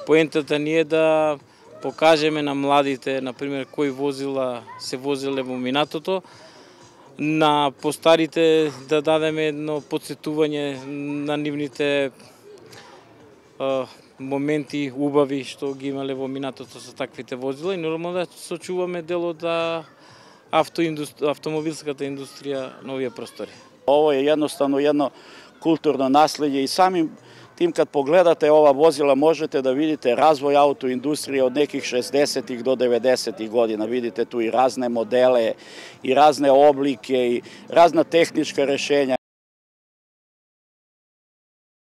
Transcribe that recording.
Поентата ни е да покажеме на младите, например, кои возила се возеле во минатото, на постарите да дадеме едно подсетување на нивните моменти убави што ги имале во минатото со таквите возила и нормално да сочуваме дел од автомобилската индустрија на овие простори. Ово е едноставно едно културно наслеđe и самим тим kad pogledate ova vozila možete da vidite razvoj autoindustrije od nekih 60-ih do 90-ih godina. Vidite tu i razne modele, i razne oblike, i razna tehnička rešenja.